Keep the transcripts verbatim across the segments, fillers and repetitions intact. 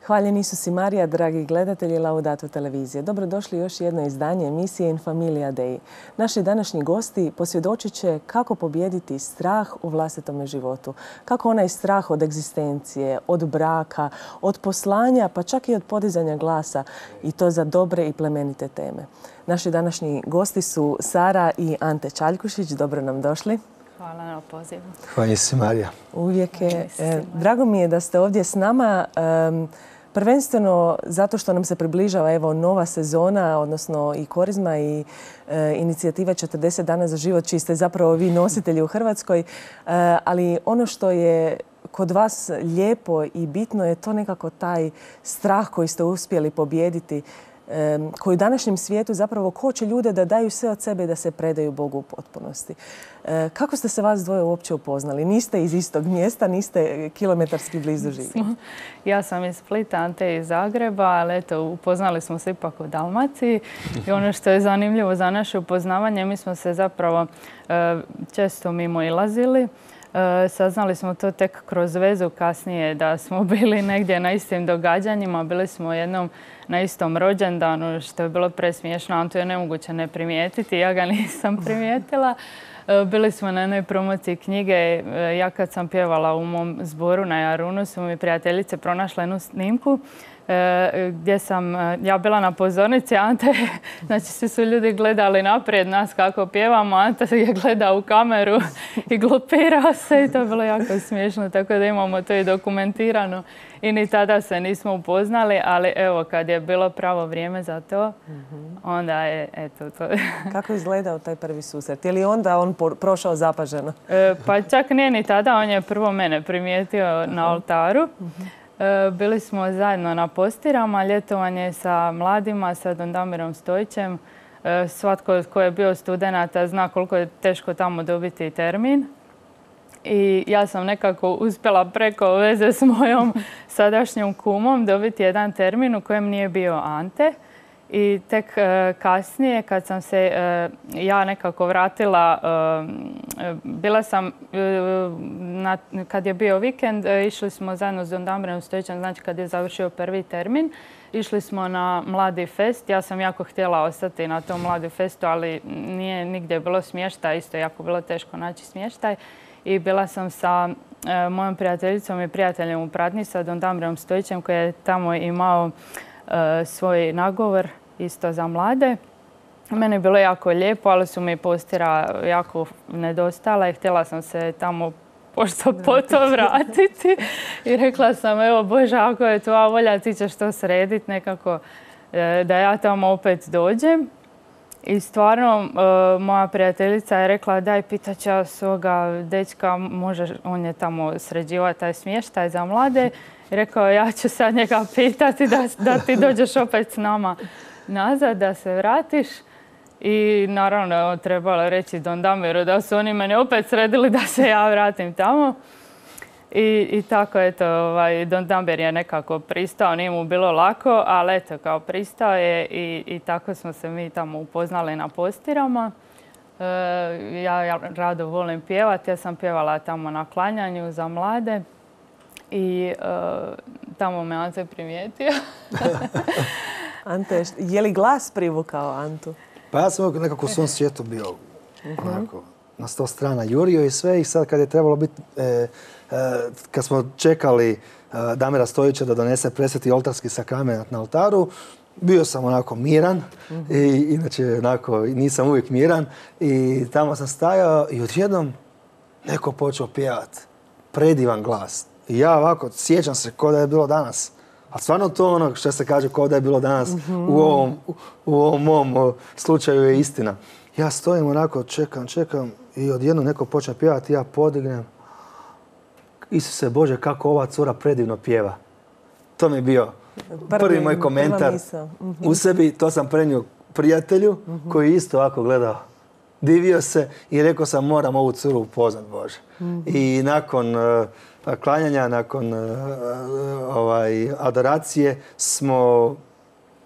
Hvaljen Isus i Marija, dragi gledatelji Laudato televizije. Dobrodošli još jedno izdanje emisije In Familia Dei. Naši današnji gosti posvjedočit će kako pobijediti strah u vlastitom životu. Kako onaj strah od egzistencije, od braka, od poslanja, pa čak i od podizanja glasa. I to za dobre i plemenite teme. Naši današnji gosti su Sara i Ante Čaljkušić. Dobro nam došli. Hvala na pozivu. Hvala se, Marija. Uvijek je. Drago mi je da ste ovdje s nama. Prvenstveno zato što nam se približava evo nova sezona, odnosno i korizma i e, inicijativa četrdeset dana za život, čiji ste zapravo vi nositelji u Hrvatskoj. E, ali ono što je kod vas lijepo i bitno je to nekako taj strah koji ste uspjeli pobijediti, e, koji u današnjem svijetu zapravo koči ljude da daju sve od sebe i da se predaju Bogu u potpunosti. E, kako ste se vas dvoje uopće upoznali? Niste iz istog mjesta, niste kilometarski blizu živi. Ja sam iz Splita, Ante iz Zagreba, ali eto, upoznali smo se ipak u Dalmaciji. I ono što je zanimljivo za naše upoznavanje, mi smo se zapravo e, često mimo ilazili. E, saznali smo to tek kroz vezu kasnije, da smo bili negdje na istim događanjima. Bili smo jednom na istom rođendanu, što je bilo presmiješno. Antu je nemoguće ne primijetiti, ja ga nisam primijetila. Bili smo na jednoj promociji knjige. Ja kad sam pjevala u mom zboru na Jarunu su mi prijateljice pronašle jednu snimku gdje sam ja bila na pozornici. Ante, znači svi su ljudi gledali naprijed nas kako pjevamo. Ante je gledao u kameru i glupirao se i to je bilo jako smiješno. Tako da imamo to i dokumentirano. I ni tada se nismo upoznali, ali evo kad je bilo pravo vrijeme za to, onda je eto to. Kako je izgledao taj prvi susret? Je li onda on prošao zapaženo? E, pa čak nije ni tada, on je prvo mene primijetio na oltaru. E, bili smo zajedno na postirama, ljetovanje sa mladima, sa Don Damirom Stojićem. E, svatko tko je bio studenata zna koliko je teško tamo dobiti termin. I ja sam nekako uspjela preko veze s mojom sadašnjom kumom dobiti jedan termin u kojem nije bio Ante. I tek e, kasnije kad sam se e, ja nekako vratila, e, bila sam, e, na, kad je bio vikend, e, išli smo zajedno s Don Damirom Stojićem, znači kad je završio prvi termin, išli smo na Mladi fest. Ja sam jako htjela ostati na tom Mladi festu, ali nije nigdje bilo smještaj, isto jako bilo teško naći smještaj. I bila sam sa e, mojom prijateljicom i prijateljem u pratnji, sa Don Damirom Stojićem, koji je tamo imao e, svoj nagovor isto za mlade. Meni je bilo jako lijepo, ali su mi postira jako nedostala i htjela sam se tamo pošto poto vratiti. I rekla sam, evo Bože, ako je tvoja volja, ti ćeš to srediti nekako e, da ja tamo opet dođem. I stvarno, moja prijateljica je rekla, daj, pitat ću ja svoga dečka, može, on je tamo sređivao taj smještaj za mlade. I rekao, ja ću sad njega pitati da, da ti dođeš opet s nama nazad, da se vratiš. I naravno, trebalo reći Don Damiru da su oni mene opet sredili da se ja vratim tamo. I, i tako, eto, ovaj, Don Damir je nekako pristao, nije mu bilo lako, ali eto, kao pristao je i, i tako smo se mi tamo upoznali na postirama. E, ja, ja rado volim pjevati, ja sam pjevala tamo na klanjanju za mlade i e, tamo me Ante primijetio. Ante, je li glas privukao Antu? Pa ja sam nekako u svom svijetu bio onako, na sto strana jurio i sve i sad kad je trebalo biti, e, e, kad smo čekali e, Damira Stojića da donese presveti oltarski sakrament na oltaru, bio sam onako miran, mm-hmm. i inače onako nisam uvijek miran i tamo sam stajao i odjednom neko počeo pjevati. Predivan glas. I ja ovako sjećam se kao da je bilo danas. A stvarno to ono što se kaže kao da je bilo danas mm-hmm. u, ovom, u ovom mom o, slučaju je istina. Ja stojim onako, čekam, čekam i odjednom neko počne pjevati, ja podignem. Isuse Bože, kako ova cura predivno pjeva. To mi je bio prvi, prvi moj komentar mm-hmm. u sebi. To sam prenio prijatelju mm-hmm. koji isto ovako gledao. Divio se i rekao sam moram ovu curu upoznat, Bože. Mm-hmm. I nakon uh, klanjanja, nakon uh, ovaj, adoracije smo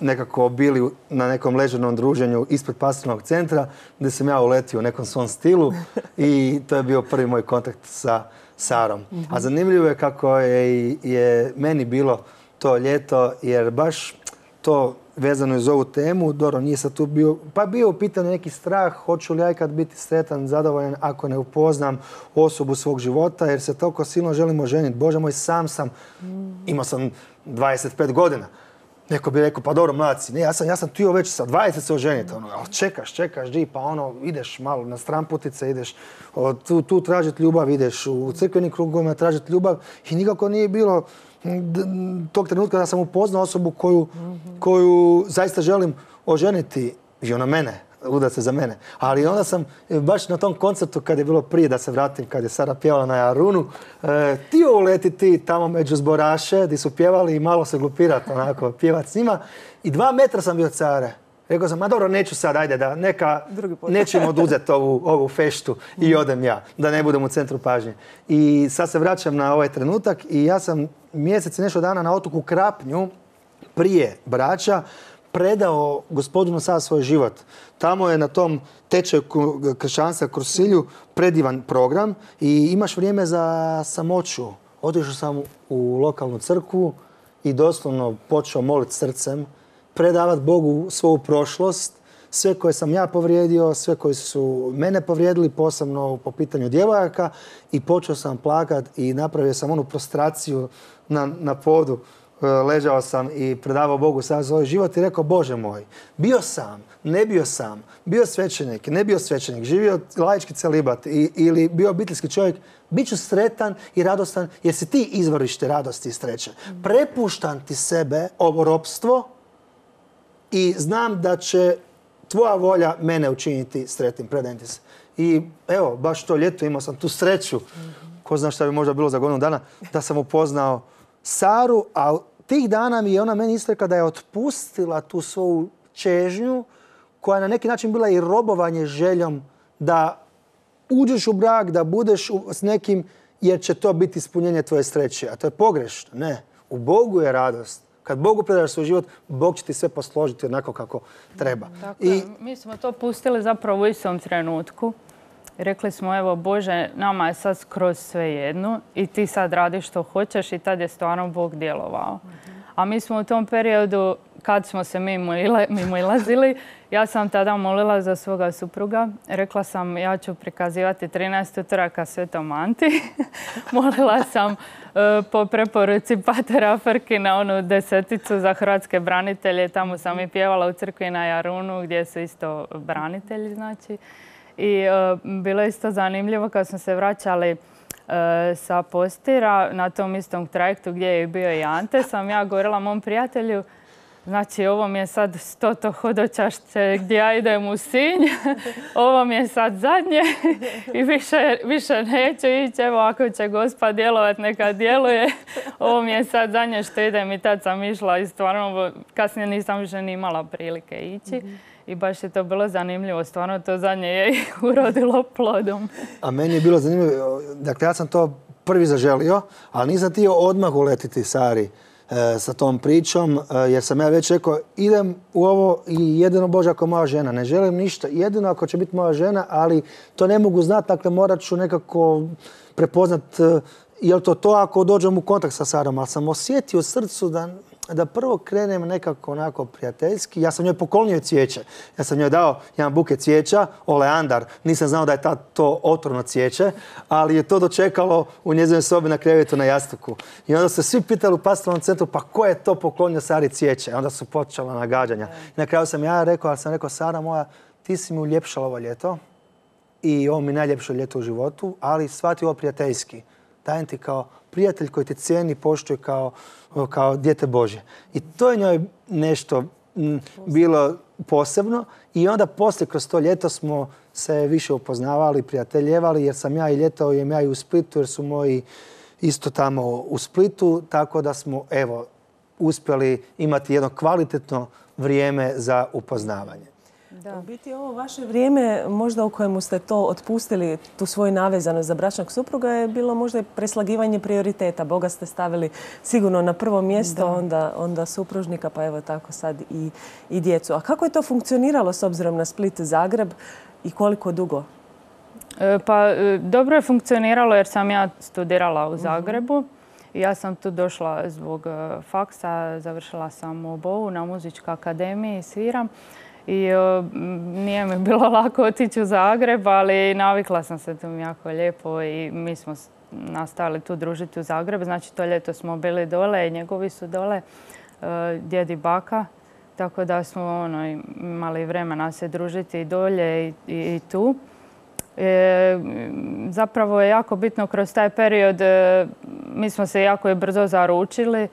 nekako bili na nekom ležernom druženju ispred pastoralnog centra gdje sam ja uletio u nekom svom stilu i to je bio prvi moj kontakt sa Sarom. Mm-hmm. A zanimljivo je kako je, je meni bilo to to ljeto, jer baš to vezano iz ovu temu, dobro, nije sad tu bio, pa bio u pitanju neki strah, hoću li ja ikad biti sretan, zadovoljan ako ne upoznam osobu svog života, jer se toliko silno želimo oženiti. Bože moj, sam sam, imao sam dvadeset pet godina. Neko bi rekao, pa dobro, mladaci, ne, ja sam, ja sam htio već sa dvadeset se oženiti, ono, ali čekaš, čekaš, di, pa ono, ideš malo na stramputice, ideš o, tu, tu tražiti ljubav, ideš u crkvenim krugovima tražiti ljubav i nikako nije bilo tog trenutka da sam upoznao osobu koju, koju zaista želim oženiti i ona mene, uda se za mene. Ali onda sam baš na tom koncertu kad je bilo prije da se vratim, kad je Sara pjevala na Jarunu, e, htio uletiti tamo među zboraše gdje su pjevali i malo se glupirati, onako, pjevat s njima. I dva metra sam bio od Sare. Rekao sam, ma dobro, neću sad, ajde da neka, nećemo oduzeti ovu, ovu feštu i odem ja, da ne budem u centru pažnje. I sad se vraćam na ovaj trenutak i ja sam mjesec i nešto dana na otoku Krapnju prije braća predao Gospodinu sad svoj život. Tamo je na tom tečaju kršćanstva Krosilju predivan program i imaš vrijeme za samoću. Otišao sam u lokalnu crkvu i doslovno počeo moliti srcem, predavati Bogu svoju prošlost, sve koje sam ja povrijedio, sve koji su mene povrijedili, posebno po pitanju djevojaka, i počeo sam plakati i napravio sam onu prostraciju na, na podu. Ležao sam i predavao Bogu sad svoj život i rekao, Bože moj, bio sam, ne bio sam, bio svećenik, ne bio svećenik, živio laički celibat i, ili bio obiteljski čovjek, bit ću sretan i radostan jer si ti izvorište radosti i sreće. Prepuštam ti sebe, ovo ropstvo, i znam da će tvoja volja mene učiniti sretnim, predajem ti se. I evo, baš to ljeto imao sam tu sreću, ko zna šta bi možda bilo za godinu dana, da sam upoznao Saru, a tih dana mi je ona meni istekla da je otpustila tu svoju čežnju, koja je na neki način bila i robovanje željom da uđeš u brak, da budeš s nekim, jer će to biti ispunjenje tvoje sreće. A to je pogrešno. Ne. U Bogu je radost. Kad Bogu predaš svoj život, Bog će ti sve posložiti onako kako treba. Tako I... Mi smo to pustili zapravo u istom trenutku. Rekli smo, evo Bože, nama je sad skroz sve jedno i ti sad radiš što hoćeš, i tad je stvarno Bog djelovao. A mi smo u tom periodu, kad smo se mimo ilazili, ja sam tada molila za svoga supruga. Rekla sam, ja ću prikazivati trinaest utoraka Svetom Anti. Molila sam uh, po preporuci patera Frki na onu deseticu za hrvatske branitelje. Tamo sam i pjevala u crkvi na Jarunu gdje su isto branitelji, znači. I uh, bilo je isto zanimljivo kad smo se vraćali uh, sa Postira na tom istom trajektu gdje je bio i Ante. Sam ja govorila mom prijatelju, znači ovo mi je sad stoto hodočašće gdje ja idem u Sinj, ovo mi je sad zadnje i više, više neću ići. Evo, ako će Gospa djelovat, neka djeluje. Ovo mi je sad zadnje što idem, i tad sam išla i stvarno kasnije nisam više ni imala prilike ići. Mm-hmm. I baš je to bilo zanimljivo. Stvarno to zadnje je urodilo plodom. A meni je bilo zanimljivo. Dakle, ja sam to prvi zaželio, ali nisam htio odmah uletiti Sari e, sa tom pričom, e, jer sam ja već rekao, idem u ovo i jedino Bože ako moja žena. Ne želim ništa. Jedino ako će biti moja žena, ali to ne mogu znati. Dakle, morat ću nekako prepoznat e, je li to to ako dođem u kontakt sa Sarom. Ali sam osjetio u srcu da... da prvo krenem nekako onako prijateljski. Ja sam njoj poklonio cvijeće. Ja sam njoj dao jedan buket cvijeća, oleandar. Nisam znao da je ta, to otrovno cvijeće, ali je to dočekalo u njezinoj sobi na krevetu na jastuku. I onda su svi pitali u pastoralnom centru, pa ko je to poklonio Sari cvijeće? Onda su počela nagađanja. Na kraju sam ja rekao, ali sam rekao, Sara moja, ti si mi uljepšala ovo ljeto i ovo mi je najljepše ljeto u životu, ali shvati ovo prijateljski. Dajem ti kao prijatelj koji te cijeni, poštuje kao, kao dijete Božje. I to je njoj nešto m, bilo posebno. I onda poslije, kroz to ljeto, smo se više upoznavali, prijateljevali, jer sam ja i ljetao jem ja i u Splitu, jer su moji isto tamo u Splitu, tako da smo, evo, uspjeli imati jedno kvalitetno vrijeme za upoznavanje. Da. U biti ovo vaše vrijeme, možda u kojemu ste to otpustili, tu svoju navezanost za bračnog supruga, je bilo možda i preslagivanje prioriteta. Boga ste stavili sigurno na prvo mjesto, onda, onda supružnika, pa evo tako sad i, i djecu. A kako je to funkcioniralo s obzirom na Split, Zagreb i koliko dugo? E, pa dobro je funkcioniralo jer sam ja studirala u Zagrebu. I ja sam tu došla zbog faksa, završila sam u Bovu na muzičkoj akademiji, sviram. I o, nije mi bilo lako otići u Zagreb, ali navikla sam se tu jako lijepo i mi smo nastavili tu družiti u Zagrebu. Znači to ljeto smo bili dole i njegovi su dole, djed i baka. Tako da smo ono, imali vremena se družiti i dolje i, i, i tu. E, zapravo je jako bitno kroz taj period, e, mi smo se jako i brzo zaručili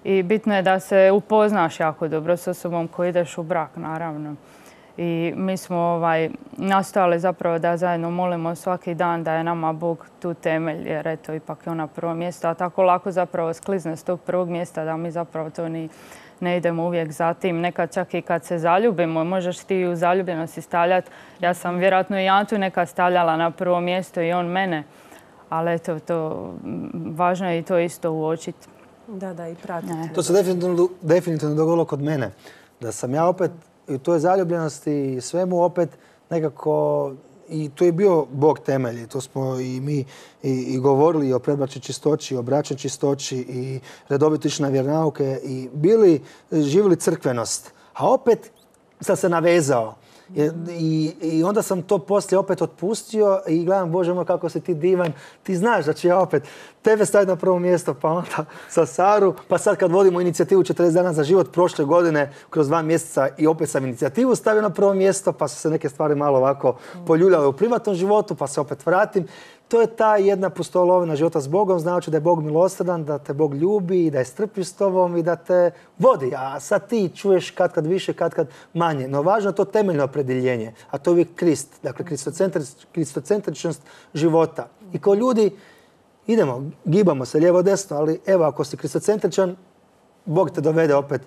i bitno je da se upoznaš jako dobro s osobom koji ideš u brak, naravno. I mi smo ovaj, nastojali zapravo da zajedno molimo svaki dan da je nama Bog tu temelj, jer eto, ipak je ona prvo mjesto, a tako lako zapravo sklizne s tog prvog mjesta da mi zapravo to ni ne idemo uvijek za tim. Nekad čak i kad se zaljubimo, možeš ti u zaljubljenosti stavljati. Ja sam vjerojatno i Antu nekad stavljala na prvo mjesto i on mene. Ali eto, to važno je i to isto uočiti. Da, da, i pratiti. To se definitivno, definitivno dogodilo kod mene. Da sam ja opet i u toj zaljubljenosti i svemu opet nekako, i tu je bio Bog temelj. To smo i mi i, i govorili o predbračnoj čistoći, o bračnoj čistoći i redovito išli na vjeronauke i bili, živjeli crkvenost. A opet sam se navezao. I, I onda sam to poslije opet otpustio i gledam, Bože moj, kako si ti divan. Ti znaš da ću ja opet tebe staviti na prvo mjesto, pa onda sa Saru. Pa sad kad vodimo inicijativu četrdeset dana za život prošle godine, kroz dva mjeseca i opet sam inicijativu stavio na prvo mjesto, pa su se neke stvari malo ovako poljuljale u privatnom životu, pa se opet vratim. To je ta jedna pustolovina života s Bogom, znači da je Bog milosrdan, da te Bog ljubi, da je strpljiv s tobom i da te vodi. A sad ti čuješ kad kad više, kad kad manje. No važno je to temeljno opredjeljenje, a to je uvijek Krist, dakle kristocentričnost života. I kao ljudi idemo, gibamo se lijevo desno, ali evo ako si kristocentričan, Bog te dovede opet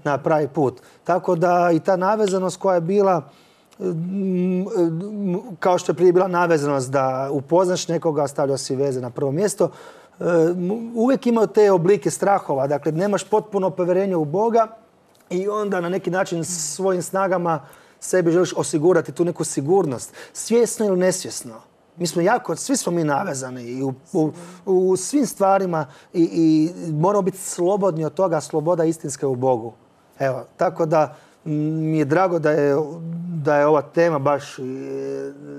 na pravi put. Tako da i ta navezanost koja je bila, kao što je prije bila navezanost da upoznaš nekoga, stavljao si veze na prvo mjesto, uvijek imaju te oblike strahova. Dakle, nemaš potpuno povjerenje u Boga i onda na neki način svojim snagama sebi želiš osigurati tu neku sigurnost. Svjesno ili nesvjesno. Mi smo jako, svi smo mi navezani i u, u, u svim stvarima i, i moramo biti slobodni od toga, sloboda istinska u Bogu. Evo, tako da mi je drago da je, da je ova tema baš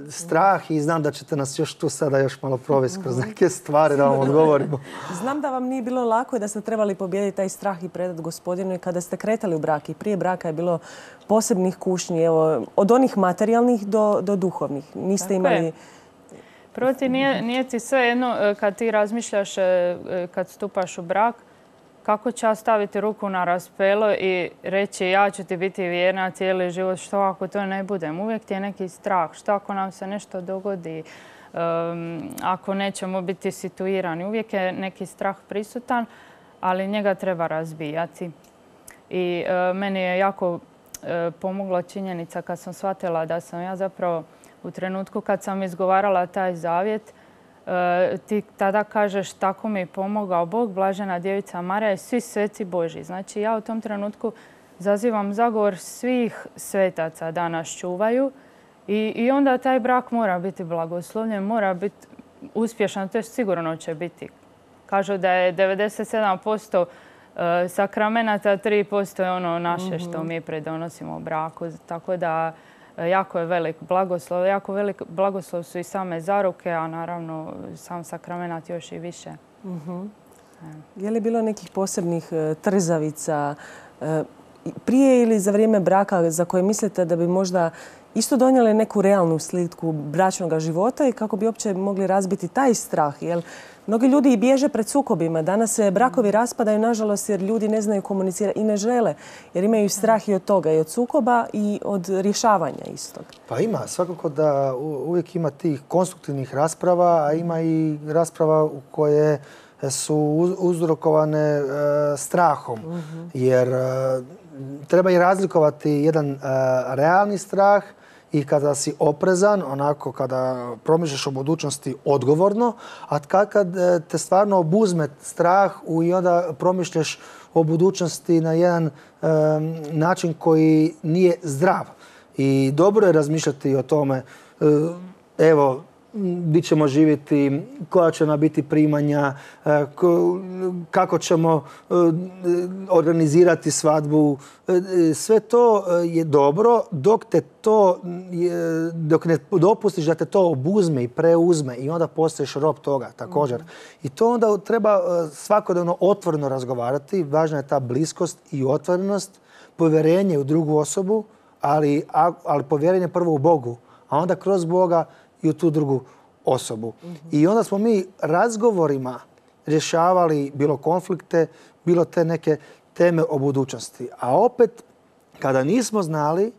strah i znam da ćete nas još tu sada još malo provesti kroz neke stvari da vam odgovorimo. Znam da vam nije bilo lako i da ste trebali pobijediti taj strah i predati Gospodinu i kada ste kretali u brak i prije braka je bilo posebnih kušnji, evo, od onih materijalnih do, do duhovnih. Niste Tako imali... Je. Prvo ti nije, nije ti sve jedno kad ti razmišljaš, kad stupaš u brak, kako će ja staviti ruku na raspelo i reći ja ću ti biti vjerna cijeli život, što ako to ne budem? Uvijek ti je neki strah, što ako nam se nešto dogodi, um, ako nećemo biti situirani. Uvijek je neki strah prisutan, ali njega treba razbijati. I uh, meni je jako uh, pomogla činjenica kad sam shvatila da sam ja zapravo u trenutku kad sam izgovarala taj zavjet, ti tada kažeš tako mi je pomogao Bog, blažena djevica Marija i svi sveci Božji. Znači ja u tom trenutku zazivam zagovor svih svetaca da nas čuvaju i, i onda taj brak mora biti blagoslovljen, mora biti uspješan, to je sigurno će biti. Kažu da je devedeset sedam posto sakramenata, tri posto je ono naše što mi pridonosimo u braku. Tako da jako je velik blagoslov. Jako velik blagoslov su i same zaruke, a naravno sam sakramenat još i više. Uh-huh. Je li bilo nekih posebnih trzavica prije ili za vrijeme braka za koje mislite da bi možda isto donijeli neku realnu sliku bračnog života i kako bi uopće mogli razbiti taj strah? Jer mnogi ljudi i bježe pred sukobima. Danas se brakovi raspadaju, nažalost, jer ljudi ne znaju komunicirati i ne žele. Jer imaju strah i od toga, i od sukoba i od rješavanja istog. Pa ima. Svakako da uvijek ima tih konstruktivnih rasprava, a ima i rasprava u koje su uzrokovane strahom. Jer treba i razlikovati jedan realni strah i kada si oprezan, onako kada promišljaš o budućnosti odgovorno, a kad, kad te stvarno obuzme strah i onda promišljaš o budućnosti na jedan um, način koji nije zdrav. I dobro je razmišljati o tome. Evo, gdje ćemo živjeti, koja će nam biti primanja, kako ćemo organizirati svadbu. Sve to je dobro dok te to, dok ne dopustiš da te to obuzme i preuzme i onda postaješ rob toga također. I to onda treba svakodnevno otvoreno razgovarati. Važna je ta bliskost i otvorenost, povjerenje u drugu osobu, ali, ali povjerenje prvo u Bogu, a onda kroz Boga i u tu drugu osobu. Mm-hmm. I onda smo mi razgovorima rješavali bilo konflikte, bilo te neke teme o budućnosti. A opet, kada nismo znali,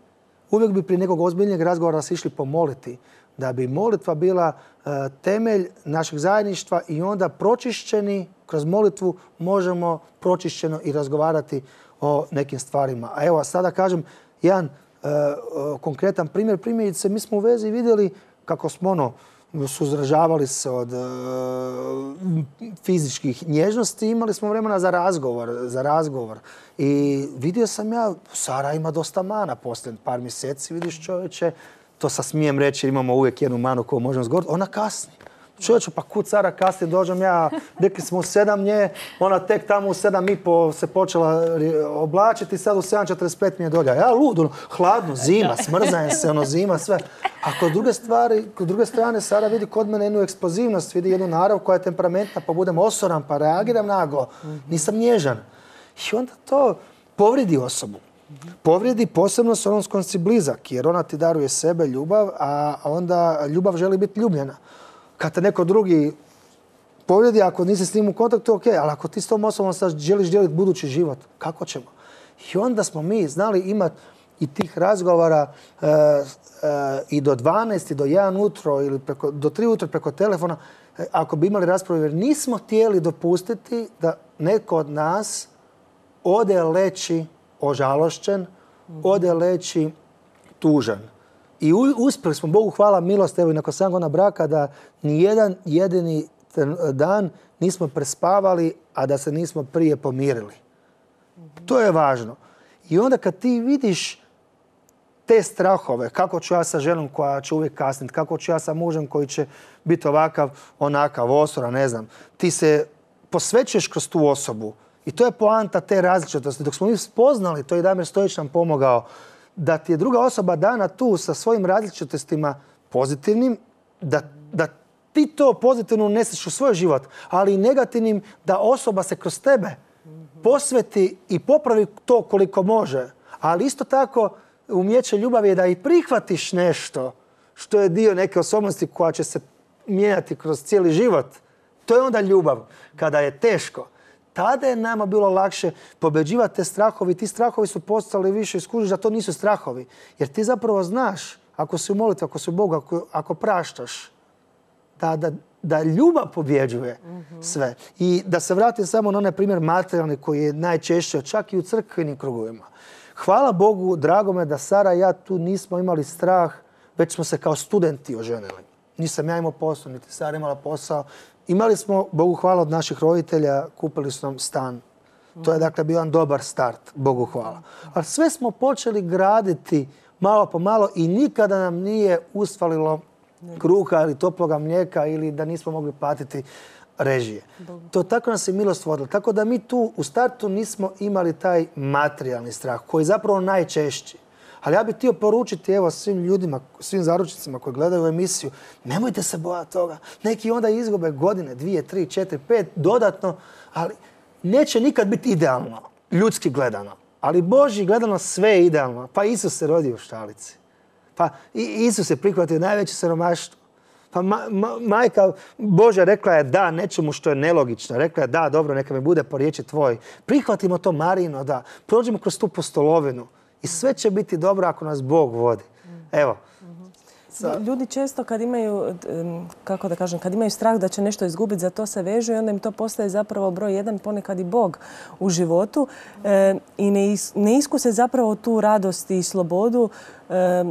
uvijek bi prije nekog ozbiljnijeg razgovora se išli pomoliti, da bi molitva bila uh, temelj našeg zajedništva i onda pročišćeni, kroz molitvu možemo pročišćeno i razgovarati o nekim stvarima. A evo, sada kažem jedan uh, konkretan primjer. Primjerice, mi smo u vezi vidjeli kako smo ono, suzdržavali se od uh, fizičkih nježnosti, imali smo vremena za razgovor, za razgovor. I vidio sam ja, Sara ima dosta mana poslije par mjeseci, vidiš čovječe, to sa smijem reći, imamo uvijek jednu manu koju možemo zgovoriti, ona kasni. Čovječe, pa kud Sara kasni, dođem ja, rekli smo u sedam nje, ona tek tamo u sedam i po se počela oblačiti, sad u sedam četrdeset pet mi je dolja. Ja lud, ono, hladno, zima, smrzajem se, ono, zima, sve. A kod druge stvari, kod druge strane, Sara vidi kod mene jednu eksplozivnost, vidi jednu narav koja je temperamentna, pa budem osoran, pa reagiram naglo. Nisam nježan. I onda to povridi osobu. Povredi posebno s onom s kojom si blizak, jer ona ti daruje sebe, ljubav, a onda ljubav želi biti ljubljena. Kad te neko drugi povrijedi, ako nisi s njim u kontaktu, ok, ali ako ti s tom osobom sad želiš dijeliti budući život, kako ćemo? I onda smo mi znali imati i tih razgovora e, e, i do dvanaest, i do jedan utro, ili preko, do tri utro preko telefona, e, ako bi imali raspravu, jer nismo htjeli dopustiti da neko od nas ode leći ožalošćen, ode leći tužan. I uspjeli smo, Bogu hvala, milost, evo i nakon sedam godina braka, da ni jedan jedini dan nismo prespavali, a da se nismo prije pomirili. To je važno. I onda kad ti vidiš te strahove, kako ću ja sa ženom koja će uvijek kasniti, kako ću ja sa mužem koji će biti ovakav, onakav, osoran, ne znam, ti se posvećuješ kroz tu osobu. I to je poanta te različitosti. Dok smo mi spoznali, to je Damir Stojić nam pomogao, da ti je druga osoba dana tu sa svojim različitostima pozitivnim, da, da ti to pozitivno uneseš u svoj život, ali i negativnim, da osoba se kroz tebe posveti i popravi to koliko može. Ali isto tako umijeće ljubavi je da i prihvatiš nešto što je dio neke osobnosti koja će se mijenjati kroz cijeli život. To je onda ljubav. Kada je teško, tada je nama bilo lakše pobeđivati te strahovi. Ti strahovi su postali više i skužiš da to nisu strahovi. Jer ti zapravo znaš, ako si u molitvi, ako si u Bogu, ako, ako praštaš, da, da, da ljubav pobjeđuje mm-hmm. sve. I da se vratim samo na onaj primjer materijalni koji je najčešće, čak i u crkvenim krugovima. Hvala Bogu, drago me da Sara i ja tu nismo imali strah, već smo se kao studenti oženili. Nisam ja imao posao, niti Sara imala posao. Imali smo, Bogu hvala, od naših roditelja, kupili su nam stan. To je dakle bio jedan dobar start, Bogu hvala. Ali sve smo počeli graditi malo po malo i nikada nam nije usfalilo kruha ili toploga mlijeka ili da nismo mogli platiti režije. To tako nas je milost vodila. Tako da mi tu u startu nismo imali taj materijalni strah koji je zapravo najčešći. Ali ja bih htio poručiti evo svim ljudima, svim zaručnicima koji gledaju emisiju, nemojte se bojati toga. Neki onda izgube godine, dvije, tri, četiri, pet, dodatno, ali neće nikad biti idealno, ljudski gledano. Ali Božji gledano sve je idealno. Pa Isus se rodio u štalici. Pa Isus je prihvatio najveće siromaštvo. Pa ma, ma, majka Božja rekla je da nečemu što je nelogično. Rekla je da, dobro, neka mi bude po riječi tvoj. Prihvatimo to Marino, da. Prođemo kroz tu postolovinu. I sve će biti dobro ako nas Bog vodi. Evo. Sa... Ljudi često kad imaju, kako da kažem, kad imaju strah da će nešto izgubiti, za to se vežu i onda im to postaje zapravo broj jedan, ponekad i Bog u životu. E, I ne, is, ne iskuse zapravo tu radost i slobodu e,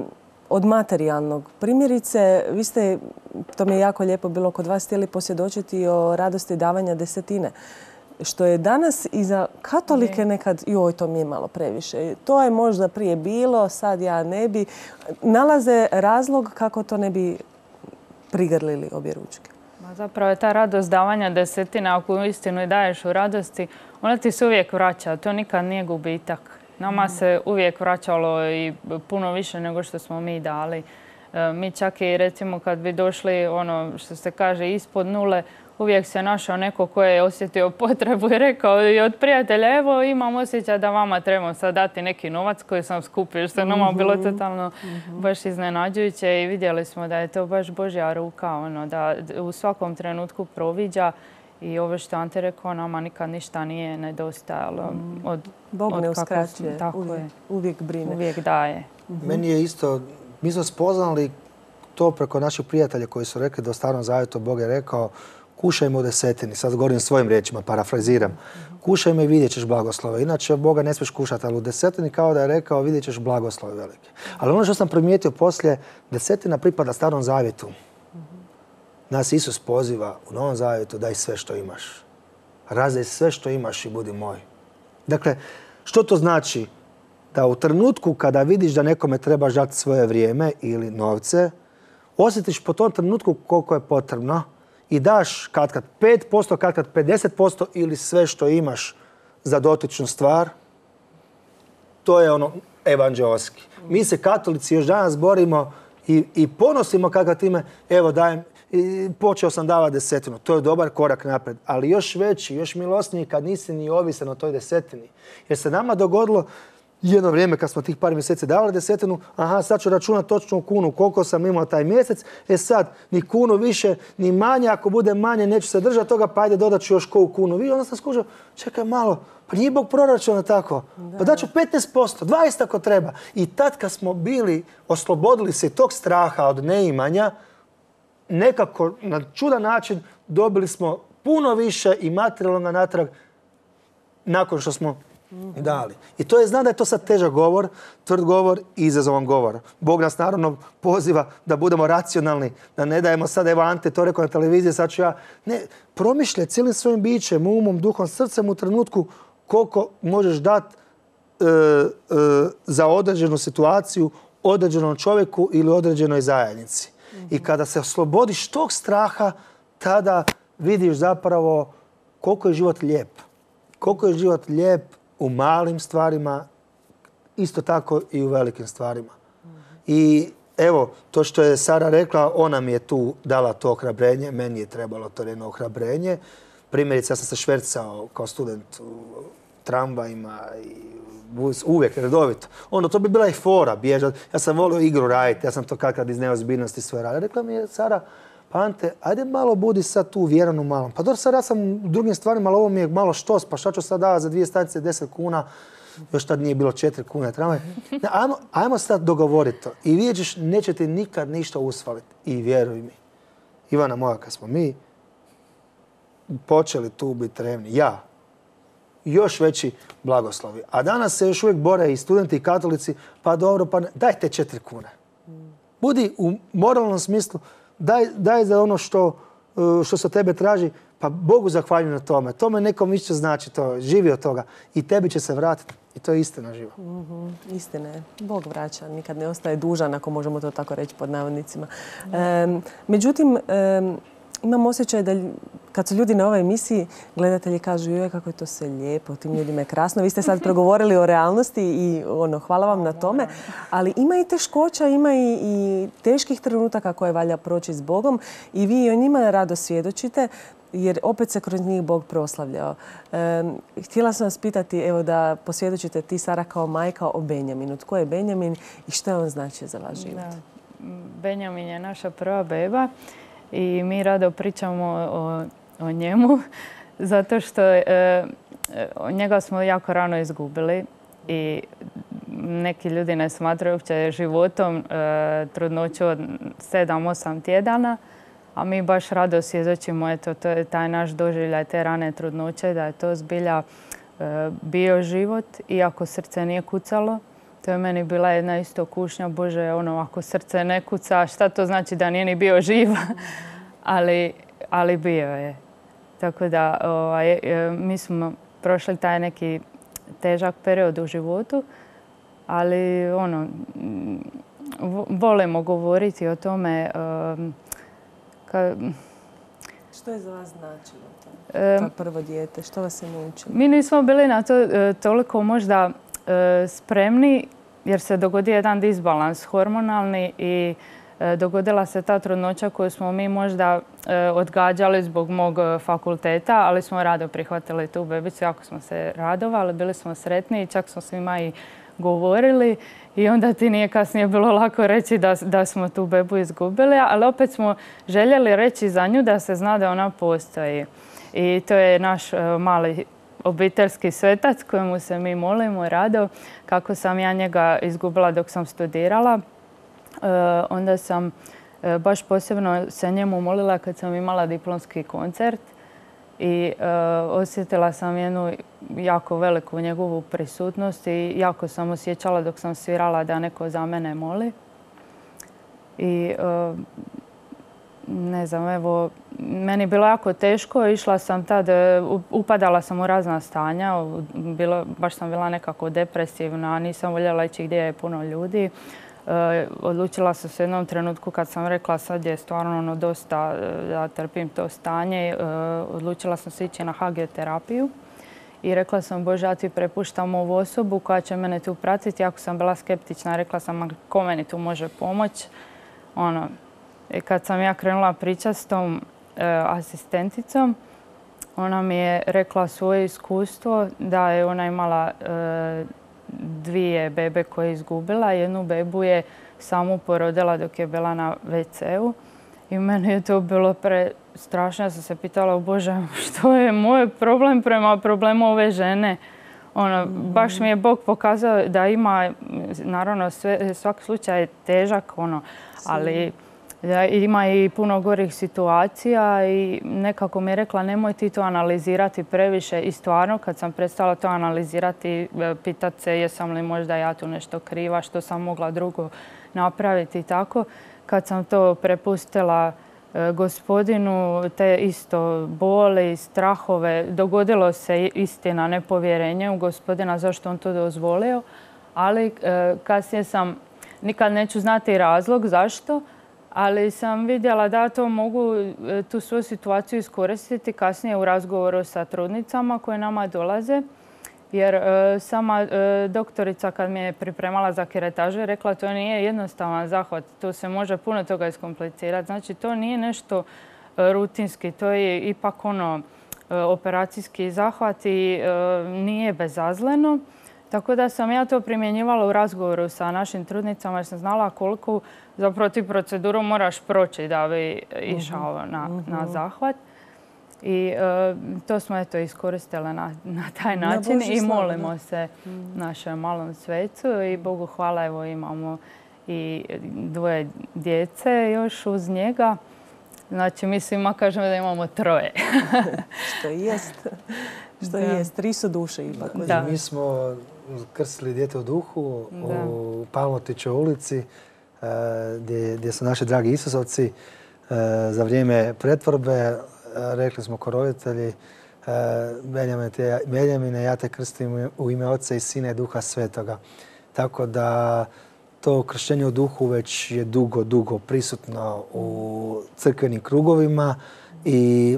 od materijalnog. Primjerice, vi ste, to mi je jako lijepo bilo kod vas, htjeli posvjedočiti o radosti davanja desetine. Što je danas i za katolike nekad, joj, to mi je malo previše. To je možda prije bilo, sad ja ne bi. Nalaze razlog kako to ne bi prigrlili obje ručke. Zapravo je ta radost davanja desetina, ako uistinu i daješ u radosti, ona ti se uvijek vraća. To nikad nije gubitak. Nama se uvijek vraćalo i puno više nego što smo mi dali. Mi čak i recimo kad bi došli, ono što se kaže, ispod nule, uvijek se našao neko ko je osjetio potrebu i rekao i od prijatelja, evo imam osjećaj da vama trebam sad dati neki novac koji sam skupio, što je nama bilo totalno baš iznenađujuće i vidjeli smo da je to baš Božja ruka, ono, da u svakom trenutku proviđa i ovo što Ante rekao, nama nikad ništa nije nedostajalo. Od, Bog od ne kako- uskraćuje, tako uvijek, je. uvijek brine. Uvijek daje. Meni je isto, mi smo spoznali to preko naših prijatelja koji su rekli da u Starom Zavjetu Bog je rekao kušajmo u desetini, sad govorim svojim riječima, parafraziram. Kušajmo i vidjet ćeš blagoslove. Inače, Boga ne smiješ kušati, ali u desetini kao da je rekao vidjet ćeš blagoslove velike. Ali ono što sam primijetio poslije, desetina pripada Starom Zavjetu. Nas Isus poziva u Novom Zavjetu daj sve što imaš. Razdaj sve što imaš i budi moj. Dakle, što to znači? Da u trenutku kada vidiš da nekome trebaš dati svoje vrijeme ili novce, osjetiš po tom trenutku koliko je potrebno i daš katkad pet posto, katkad pedeset posto ili sve što imaš za dotičnu stvar, to je ono evanđeoski. Mi se katolici još danas borimo i, i ponosimo kako time, evo dajem, i počeo sam davati desetinu. To je dobar korak naprijed, ali još veći, još milosniji kad nisi ni ovisan o toj desetini. Jer se nama dogodilo jedno vrijeme kad smo tih par mjeseci davali desetinu, aha, sad ću računati točno u kunu koliko sam imao taj mjesec, e sad ni kunu više, ni manje, ako bude manje neću se držati toga, pa ajde dodat ću još koju kunu. Vi onda sam skužio, čekaj malo, pa nije Bog proračuna tako, pa daću petnaest posto, dvadeset ako treba. I tad kad smo bili, oslobodili se tog straha od neimanja, nekako na čudan način dobili smo puno više i materijalnog natrag nakon što smo dali. I to je, znam da je to sad težak govor, tvrd govor i izazovan govor. Bog nas naravno poziva da budemo racionalni, da ne dajemo sad, evo Ante to rekao na televiziji, sad ću ja. Ne, promišljaj cijelim svojim bićem, umom, duhom, srcem u trenutku koliko možeš dati e, e, za određenu situaciju, određenom čovjeku ili određenoj zajednici. I kada se oslobodiš tog straha, tada vidiš zapravo koliko je život lijep. Koliko je život lijep u malim stvarima, isto tako i u velikim stvarima. I evo, to što je Sara rekla, ona mi je tu dala to ohrabrenje, meni je trebalo to jedno ohrabrenje. Primjerice, ja sam se švercao kao student u tramvajima i uvijek, redovito. Onda to bi bila i fora, bježat. Ja sam volio igru raditi, ja sam to kakad iz neozbiljnosti sve radio. Rekla mi je Sara, pa Ante, ajde malo budi sad tu vjeran u malom. Pa dobro, sad ja sam u drugim stvarima, ali ovo mi je malo štos, pa šta ću sad davati za dvije stanice deset kuna, još tad nije bilo četiri kune tramvaj. Ne, ajmo, ajmo sad dogovoriti to. I vidjet ćeš, neće ti nikad ništa usvaliti. I vjeruj mi, Ivana moja, kad smo mi počeli tu biti revni, ja, još veći blagoslovi. A danas se još uvijek bore i studenti i katolici, pa dobro, pa ne, daj te četiri kune. Budi u moralnom smislu, daj, daj za ono što, što se od tebe traži, pa Bogu zahvaljujem na tome. Tome nekom više znači to, živi od toga i tebi će se vratiti. I to je istina živa. Mm-hmm. Istina je. Bog vraća, nikad ne ostaje dužan, ako možemo to tako reći pod navodnicima. Um, međutim, um, imam osjećaj da kad su ljudi na ovoj emisiji, gledatelji kažu joj kako je to sve lijepo, tim ljudima je krasno. Vi ste sad progovorili o realnosti i ono, hvala vam na tome. Ali ima i teškoća, ima i, i teških trenutaka koje valja proći s Bogom i vi o njima rado svjedočite, jer opet se kroz njih Bog proslavljao. E, htjela sam vas pitati, evo da posvjedočite ti, Sara, kao majka o Benjaminu. Tko je Benjamin i što je on znači za vaš život? Da. Benjamin je naša prva beba i mi rado pričamo o, o njemu zato što e, njega smo jako rano izgubili i neki ljudi ne smatraju uopće životom e, trudnoću od sedam osam tjedana. A mi baš rado svjedočimo, eto, to je taj naš doživljaj te rane trudnoće, da je to zbilja e, bio život, iako srce nije kucalo. To je meni bila jedna isto kušnja, Bože, ono, ako srce ne kuca, šta to znači da nije ni bio živ? ali, ali bio je. Tako da ovaj, e, mi smo prošli taj neki težak period u životu, ali ono, volimo govoriti o tome. E, Ka... Što je za vas značilo to? E, to prvo dijete, što vas je naučilo? Mi nismo bili na to e, toliko možda e, spremni, jer se dogodio jedan disbalans hormonalni i e, dogodila se ta trudnoća koju smo mi možda e, odgađali zbog mog fakulteta, ali smo rado prihvatili tu bebicu, jako smo se radovali, bili smo sretni i čak smo svima i govorili i onda ti nije kasnije bilo lako reći da, da smo tu bebu izgubili, ali opet smo željeli reći za nju da se zna da ona postoji. I to je naš uh, mali obiteljski svetac kojemu se mi molimo rado. Kako sam ja njega izgubila dok sam studirala, uh, onda sam uh, baš posebno se njemu molila kad sam imala diplomski koncert. I uh, osjetila sam jednu jako veliku njegovu prisutnost i jako sam osjećala dok sam svirala da neko za mene moli. I uh, ne znam, evo, meni je bilo jako teško. Išla sam tad, upadala sam u razna stanja. Bilo, baš sam bila nekako depresivna, nisam voljela ići gdje je puno ljudi. Uh, odlučila sam se u jednom trenutku kad sam rekla sad je stvarno ono dosta da trpim to stanje. Uh, odlučila sam se ići na hagioterapiju i rekla sam Bože, ja ti prepuštam ovu osobu koja će mene tu pratiti. Ako sam bila skeptična, rekla sam ko meni tu može pomoći. Ono, i kad sam ja krenula pričati s tom uh, asistenticom, ona mi je rekla svoje iskustvo da je ona imala uh, dvije bebe koje je izgubila. Jednu bebu je samu porodila dok je bila na ve ce u. I meni je to bilo prestrašno. Ja sam se pitala, Bože, što je moj problem prema problemu ove žene? Ono, baš mi je Bog pokazao da ima, naravno, sve, svaki slučaj je težak, ono, ali da ima i puno gorih situacija i nekako mi je rekla nemoj ti to analizirati previše i stvarno kad sam prestala to analizirati, pitati se jesam li možda ja tu nešto kriva, što sam mogla drugo napraviti i tako. Kad sam to prepustila gospodinu, te isto boli, strahove, dogodilo se istina nepovjerenje u gospodina zašto on to dozvolio, ali kasnije sam, nikad neću znati razlog zašto, ali sam vidjela da to mogu tu svoju situaciju iskoristiti kasnije u razgovoru sa trudnicama koje nama dolaze. Jer e, sama e, doktorica kad mi je pripremala za keretažu je rekla to nije jednostavan zahvat, tu se može puno toga iskomplicirati. Znači to nije nešto e, rutinski, to je ipak ono e, operacijski zahvat i e, nije bezazleno. Tako da sam ja to primjenjivala u razgovoru sa našim trudnicama jer sam znala koliko zapravo ti proceduru moraš proći da bi išao na, na zahvat. I uh, to smo eto iskoristile na, na taj način i molimo se našem malom svecu i Bogu hvala, evo imamo i dvoje djece još uz njega. Znači mi svima kažemo da imamo troje. Što jest. Što jest. Tri su duše ipak. Da. Mi smo krstili dijete u duhu da. u Palmotićevoj ulici gdje, gdje su naši dragi Isusovci za vrijeme pretvorbe. Rekli smo ko roditelji, Benjamine, ja te krstim u ime Oca i Sina i Duha Svetoga. Tako da to krštenje u duhu već je dugo, dugo prisutno u crkvenim krugovima i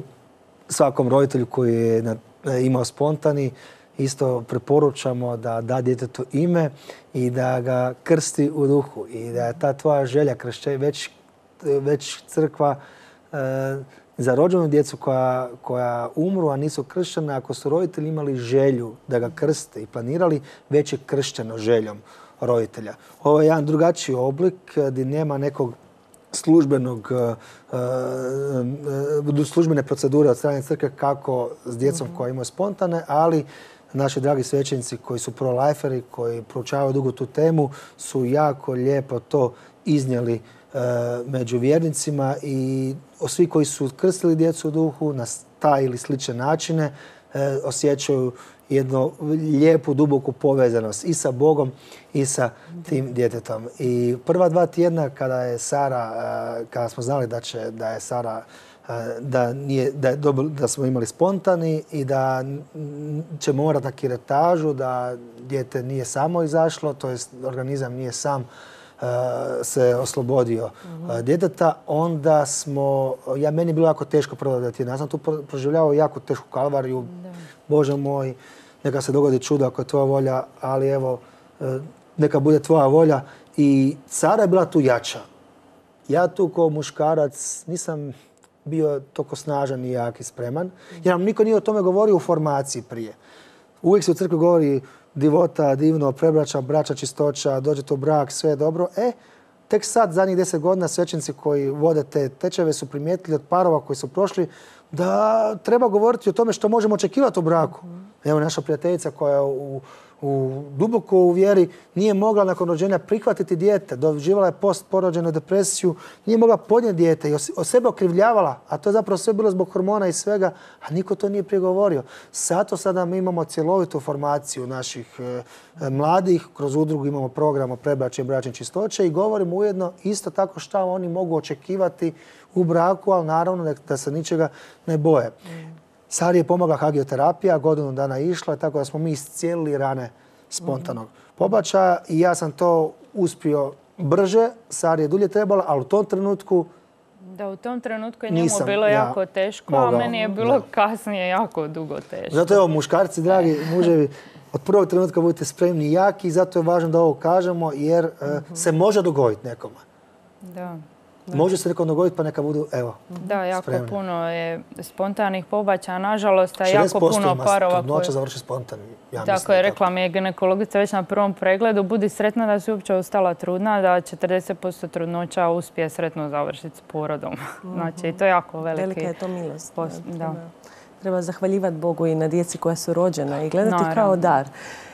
svakom roditelju koji je imao spontani isto preporučamo da da djetetu ime i da ga krsti u duhu i da je ta tvoja želja krštenja, već, već crkva za rođenu djecu koja, koja umru, a nisu krštena, ako su roditelji imali želju da ga krste i planirali, već je kršteno željom roditelja. Ovo je jedan drugačiji oblik gdje nema nekog službenog, uh, službene procedure od strane crkve kako s djecom koja imaju spontane, ali naši dragi svećenici koji su pro-liferi, koji proučavaju dugo tu temu, su jako lijepo to iznijeli među vjernicima i svi koji su krstili djecu u duhu na taj ili slične načine osjećaju jednu lijepu, duboku povezanost i sa Bogom i sa tim djetetom. I prva dva tjedna kada je Sara, kada smo znali da će, da je Sara da, nije, da, je dobro, da smo imali spontani i da će morati na kiretažu, da dijete nije samo izašlo, to jest organizam nije sam se oslobodio uh, djeteta, onda smo, ja meni je bilo jako teško prodati. Ja sam tu proživljavao jako tešku kalvariju. Da. Bože moj, neka se dogodi čudo ako je tvoja volja, ali evo, neka bude tvoja volja. I Sara je bila tu jača. Ja tu kao muškarac nisam bio toliko snažan i jak i spreman, jer nam niko nije o tome govorio u formaciji prije. Uvijek se u crkvi govori divota, divno, prebraća, braća, čistoća, dođete u brak, sve je dobro. E, tek sad, zadnjih deset godina, svećenici koji vode te tečeve su primijetili od parova koji su prošli da treba govoriti o tome što možemo očekivati u braku. Evo naša prijateljica koja u, u duboko u vjeri nije mogla nakon rođenja prihvatiti dijete, doživala je postporođenu depresiju, nije mogla podnijeti dijete i o sebe okrivljavala, a to je zapravo sve bilo zbog hormona i svega, a niko to nije prigovorio. Zato sada mi imamo cjelovitu formaciju naših e, mladih, kroz udrugu imamo program o prebračju i bračne čistoće i govorimo ujedno isto tako šta oni mogu očekivati u braku, ali naravno da se ničega ne boje. Mm. Sari je pomogla hagioterapija, godinu dana išla, tako da smo mi iscijelili rane spontanog pobačaja i ja sam to uspio brže, Sari je dulje trebala, ali u tom trenutku Da, u tom trenutku je njemu bilo ja jako teško, mogao, a meni je bilo da. kasnije jako dugo teško. Zato evo, muškarci, dragi muževi, od prvog trenutka budite spremni i jaki i zato je važno da ovo kažemo jer uh, se može dogoditi nekome. Da. Da. Može se nekom dogoditi pa neka budu, evo, Da, jako spremni. Puno je spontanih pobačaja, nažalost, a jako puno parova koji... trudnoća završi spontano. Ja tako je, rekla mi je ginekologica već na prvom pregledu, budi sretna da si uopće ostala trudna, da četrdeset posto trudnoća uspije sretno završiti s porodom. Mm-hmm. Znači, i to je jako veliki... Velika je to milost. Post, da. Da. Treba zahvaljivati Bogu i na djeci koja su rođena i gledati Naravno. kao dar.